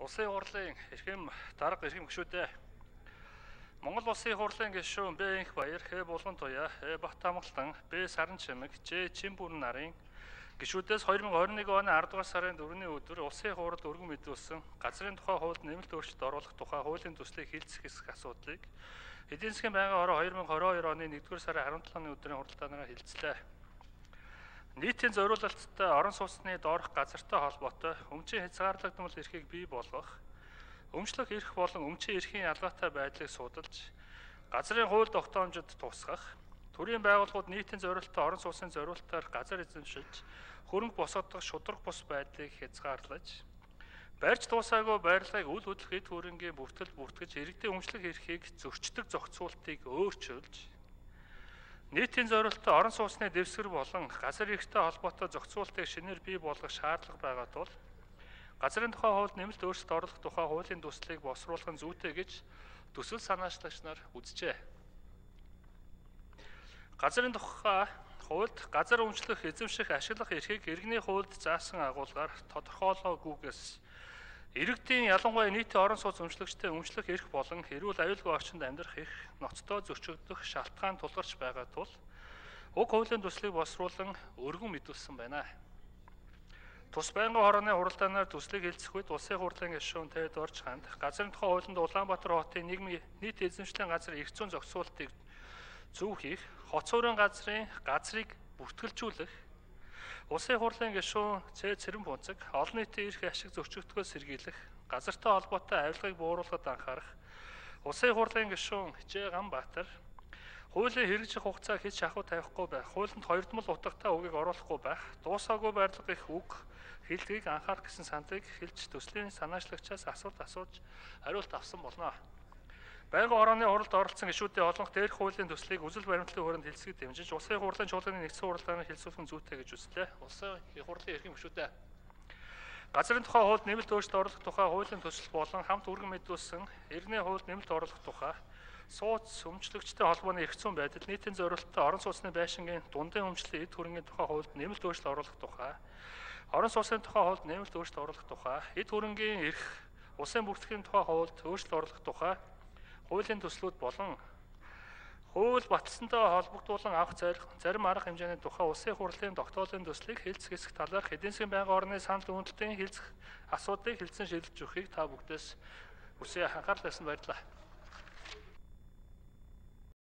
Улсын хурлын эрхэм дарга эрхэм гишүүдээ Монгол Улсын хурлын гишүүн Б Энх Баяр, Х Булган Туяа, Бат Амгалан, Б Саран Чимэг, Ж Чимбүрэн нарын гишүүдээс 2021 оны 10 дугаар сарын 4-ний өдөр Улсын хурлд өргөн мэдүүлсэн газрын тухай хуульд нэмэлт өөрчлөлт оруулах тухай хуулийн төслийг хилцэх хэсэг асуудлыг эдийн засгийн байнгын хороо 2022 оны 1-р сарын 17-ны өдрийн хуралдаанаар хилцлээ. Нийтийн зориулалттай орон сууцны доорх газартай холбоотой өмчийн хязгаарлагдмал эрхийг бий болгох, өмчлөх эрх болон өмчийн эрхийн ялгаатай байдлыг судалж, газрын хууль тогтоомжид тусгах, төрийн байгууллагууд нийтийн зориулалттай орон сууцны зориулалтаар газар эзэмшиж, хөрөнгө босгодох шударга бус байдлыг хязгаарлаж, барьж дуусаагүй байрлагыг үл хөдлөх эд хөрөнгийн бүртгэл бүртгэж, иргэдийн өмчлөх эрхийг зөрчдөг зохицуултыг өөрчилж, нийтийн зориулалттай орон сууцны дэвсгэр болон газар эрхтэй холбоотой зохицуултыг шинээр бий болгох шаардлага байгаа тул газрын тухай хуульд нэмэлт өөрчлөлт оруулах тухай хуулийн төслийг босруулах нь зүйтэй гэж төсөл санаачлагч нар үзжээ. Газрын тухай хуульд газар өмчлөх, эзэмших, ашиглах эрхийг иргэний хуульд заасан агуулгаар тодорхойлоогүйгээс иргэдийн ялангуяа нийтийн орон сууц өмчлөгчтэй өмчлөх эрх болон эрүүл аюулгүй орчинд амьдрах эрх ноцтой зөрчигдөх шалтгаан тулгарч байгаа тул уг хуулийн төслийг босруулан өргөн мэдүүлсэн байна. Тус байнгын хорооны хуралдаанаар төслийг хилцэх үед Улсын хурлын гишүүн Тэд Орж ханд газрын тухай хуулинд Улаанбаатар хотын нийгмийн нийт эзэмшлийн газар эрх зүйн зохицуултыг зөв хийх, хоц хуурин газрыг бүртгэлжүүлэх, Улсын хурлын гишүүн Ц Цэрэн Фунцэг олон нийтийн эрх ашиг зөрчигдөхөөс сэргийлэх, газартай холбоотой авилгыг бууруулахад анхаарах, Улсын хурлын гишүүн Ж Ганбаатар хуулийн хэрэгжих хугацаа хийж шахуу тавихгүй байх, хуулинд хоёрдмол утгатай үгийг оруулахгүй байх, дуусаагүй байрлах их үг хэлтгийг анхаарах гэсэн сандыг хэлж төслийн санаачлагчаас асуулт асууж хариулт авсан болно. Байнгын хорооны хуралд оролцсон гишүүдийн олонх дээрх хуулийн төслийг үзэл баримтлалын хүрээнд хэлцгийг дэмжиж Улсын хурлын чуулганы нэгдсэн хуралдаанаар хэлцүүлэх нь зүйтэй гэж үзлээ. Улсын хурлын эрхэм гишүүдээ газрын тухай хуульд нэмэлт өөрчлөлт оруулах тухай хуулийн төсөл болон хамт өргөн мэдүүлсэн иргэний хуульд нэмэлт оруулах тухай сууц өмчлөгчтэй холбооны эрх зүйн байдал, нийтийн зориулалттай орон сууцны байшингийн дундын өмчлөлийн эд хөрөнгийн тухай хуульд нэмэлт өөрчлөлт оруулах тухай, орон сууцны тухай хуульд нэмэлт өөрчлөлт оруулах тухай, эд хөрөнгийн эрх, улсын бүртгэлийн тухай хуульд өөрчлөлт оруулах тухай хуулийн төслүүд болон хууль баталсантай холбогдуулан авах зарим арга хэмжээний тухай Улсын хурлын тогтоолын төслийг хэлцэх хэсэг талаарх эдийн засгийн байнгын орны санал үнэлтийн хэлцэх асуудлыг хэлсэн шийдэлж өгөхийг та бүгдээс хүсье анхаарлаа тавьсан баярлалаа.